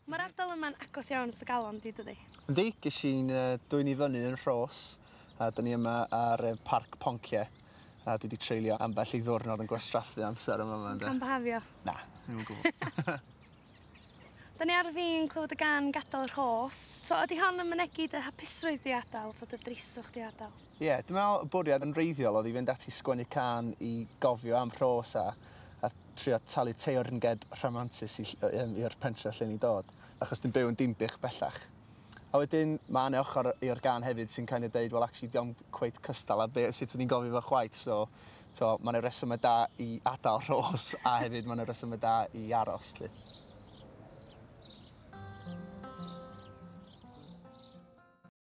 Mae'r ardal yma'n agos iawn at dy galon di, dydi? Yndi, ges i'n dwyn i fyny yn Rhos, a 'dyn ni yma ar Parc Poncie, a dwi 'di treulio ambell i ddiwrnod yn gwastraffu amser yn fama ynde. Yn cambyhafio? Na, ddim o gwbwl. 'Dan ni ar fin clywed y gân Gadal Rhos. So ydi hon yn mynegi dy hapusrwydd di adael, ta dy dristwch di adael? Ie, dwi'n me'wl y bwriad yn wreiddiol o'dd i fynd ati sgwennu cân i gofio am Rhos a a trio talu teyrnged rhamantus i ll- yy yym i'r pentre lle ni'n dod, achos dwi'n byw yn Dinbych bellach. A wedyn ma' 'ne ochor i'r gân hefyd sy'n kind of deud wel actually 'di o'm cweit cystal â be' sut o'n i'n gofio fo chwaith so t'o' ma' 'ne resyme da i adal Rhos a hefyd ma' 'ne resyme da i aros 'lly.